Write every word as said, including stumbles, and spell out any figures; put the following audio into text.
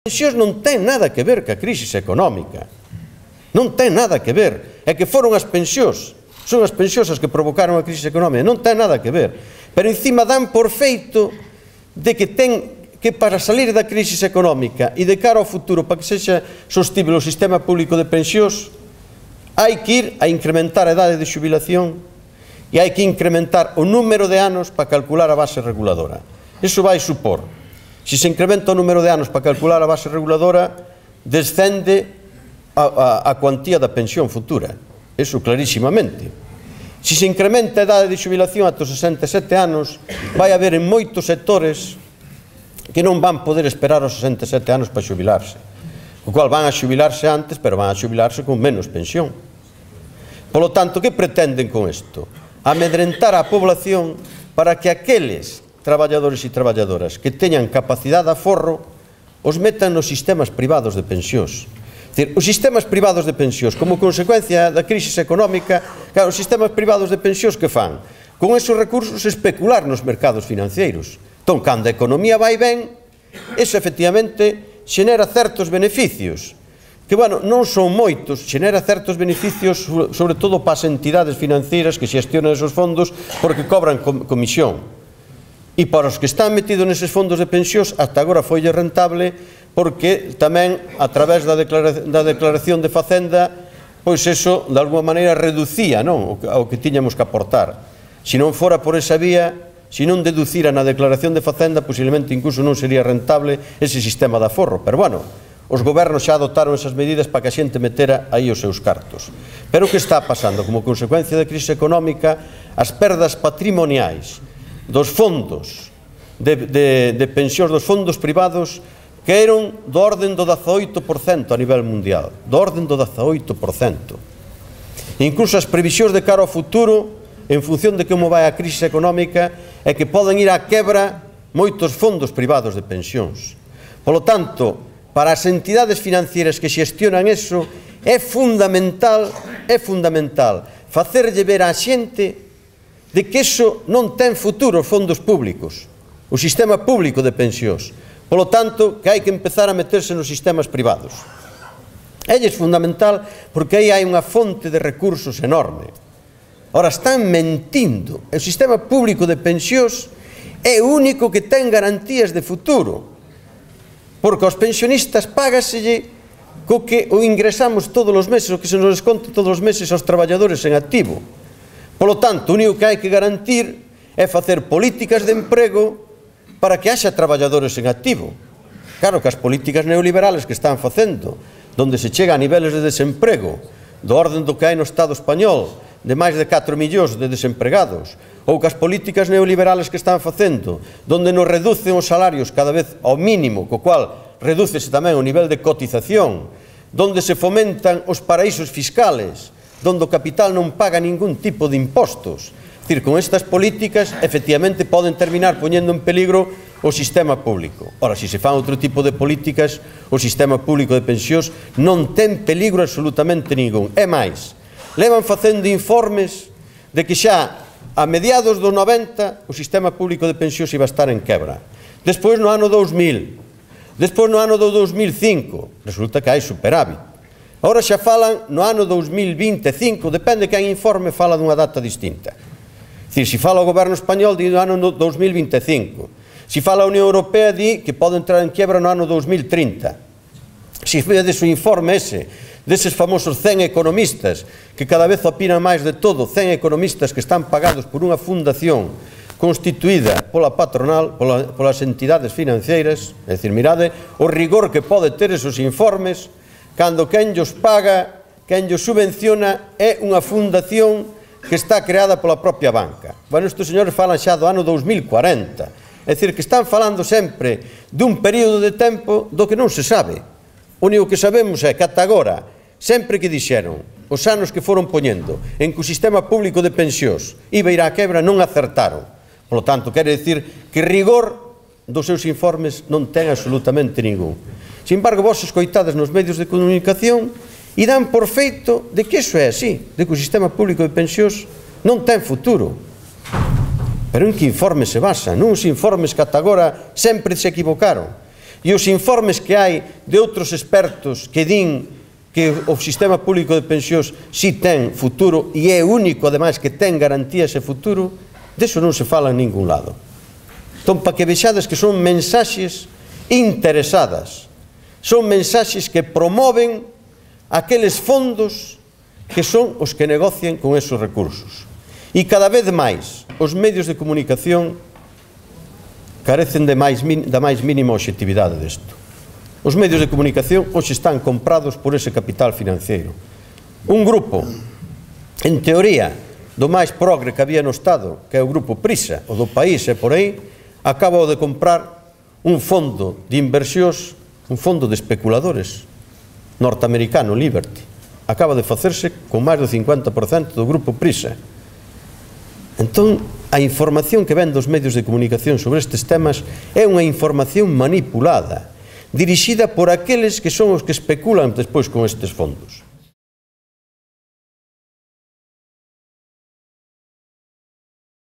pensións non ten nada que ver ca crise económica. Non ten nada que ver. É que foron as pensións, son as pensións as que provocaron a crise económica. Non ten nada que ver. Pero encima dan por feito de que ten que para salir da crise económica e de cara ao futuro, para que sexa sostible o sistema público de pensións, hai que ir a incrementar a idade de xubilación e hai que incrementar o número de anos para calcular a base reguladora. Iso vai supor, se se incrementa o número de anos para calcular a base reguladora, descende a, a, a cuantía da pensión futura. Iso clarísimamente. Se se incrementa a idade de xubilación ata os sesenta e sete anos, vai haber en moitos sectores que non van poder esperar os sesenta e sete anos para xubilarse. O cual van a xubilarse antes, pero van a xubilarse con menos pensión. Polo tanto, que pretenden con isto? Amedrentar a población para que aqueles traballadores e traballadoras que teñan capacidade de aforro os metan nos sistemas privados de pensións. Dicir, os sistemas privados de pensións, como consecuencia da crise económica, claro, os sistemas privados de pensións que fan? Con esos recursos especular nos mercados financeiros. Entón, cando a economía vai ben, eso efectivamente xenera certos beneficios, que, bueno, non son moitos, xenera certos beneficios, sobre todo para as entidades financeiras que xestionan esos fondos, porque cobran comisión. E para os que están metidos neses fondos de pensións, ata agora foi rentable, porque tamén, a través da declaración de Facenda, pois eso, de alguma maneira, reducía o que tiñamos que aportar. Se non fora por esa vía, se non deducira na declaración de Facenda, posiblemente incluso non sería rentable ese sistema de aforro. Pero, bueno, os gobernos xa adotaron esas medidas para que a xente metera aí os seus cartos. Pero o que está pasando? Como consecuencia da crise económica, as perdas patrimoniais dos fondos de, de, de pensións, dos fondos privados, que eran do orden do dezaoito por cento a nivel mundial. Do orden do dezaoito por cento. Incluso as previsións de cara ao futuro, en función de como vai a crise económica, é que poden ir á quebra moitos fondos privados de pensións. Polo tanto, para as entidades financieras que xestionan eso, é fundamental, é fundamental facerlle ver á xente de que eso non ten futuro os fondos públicos, o sistema público de pensións. Polo tanto, que hai que empezar a meterse nos sistemas privados. É fundamental porque aí hai unha fonte de recursos enorme. Ora, están mentindo. O sistema público de pensións é o único que ten garantías de futuro. Porque aos pensionistas págaselle co que o ingresamos todos os meses, o que se nos desconta todos os meses aos traballadores en activo. Polo tanto, o único que hai que garantir é facer políticas de emprego para que haxa traballadores en activo. Claro que as políticas neoliberales que están facendo, donde se chega a niveles de desemprego do orden do que hai no Estado español, de máis de catro millóns de desempregados, ou que as políticas neoliberales que están facendo, donde nos reducen os salarios cada vez ao mínimo, co cual redúcese tamén o nivel de cotización, donde se fomentan os paraísos fiscales, donde o capital non paga ningún tipo de impostos. É dicir, con estas políticas, efectivamente, poden terminar poñendo en peligro o sistema público. Ora, se se fan outro tipo de políticas, o sistema público de pensións non ten peligro absolutamente ningún. É máis, levan facendo informes de que xa a mediados dos noventa o sistema público de pensións iba a estar en quebra. Despois no ano dous mil, despois no ano do dous mil cinco, resulta que hai superávit. Agora xa falan no ano dous mil vinte e cinco, depende que quen informe fala dunha data distinta. É dicir, se fala o goberno español, di no ano dous mil vinte e cinco. Se fala a Unión Europea, di que pode entrar en quiebra no ano dous mil trinta. Se vedes o informe ese, deses famosos cen economistas, que cada vez opinan máis de todo, cen economistas que están pagados por unha fundación constituída pola patronal, pola, polas entidades financeiras, é dicir, mirade o rigor que pode ter esos informes, cando quen llos paga, quen llos subvenciona, é unha fundación que está creada pola propia banca. Bueno, estes señores falan xa do ano dous mil cuarenta. É dicir, que están falando sempre dun período de tempo do que non se sabe. O único que sabemos é que ata agora, sempre que dixeron, os anos que foron poñendo en que o sistema público de pensións iba a ir á quebra, non acertaron. Por lo tanto, quere dicir que rigor dos seus informes non ten absolutamente ningún. Sin embargo, vos escoitades nos medios de comunicación e dan por feito de que iso é así, de que o sistema público de pensións non ten futuro. Pero en que informes se basan? Nuns informes que ata agora sempre se equivocaron. e os informes que hai de outros expertos que din que o sistema público de pensións si ten futuro e é único, ademais, que ten garantía ese futuro, deso non se fala en ningún lado. Entón, para que vexades que son mensaxes interesadas, son mensaxes que promoven aqueles fondos que son os que negocian con esos recursos. E cada vez máis os medios de comunicación carecen de máis, da máis mínima obxectividade desto. Os medios de comunicación hoxe están comprados por ese capital financiero. Un grupo, en teoría, do máis progre que había no Estado, que é o grupo Prisa, o do País e por aí, acaba de comprar un fondo de inversións, un fondo de especuladores norteamericano, Liberty. Acaba de facerse con máis do cincuenta por cento do grupo Prisa. Entón, a información que ven dos medios de comunicación sobre estes temas é unha información manipulada, dirixida por aqueles que son os que especulan despois con estes fondos.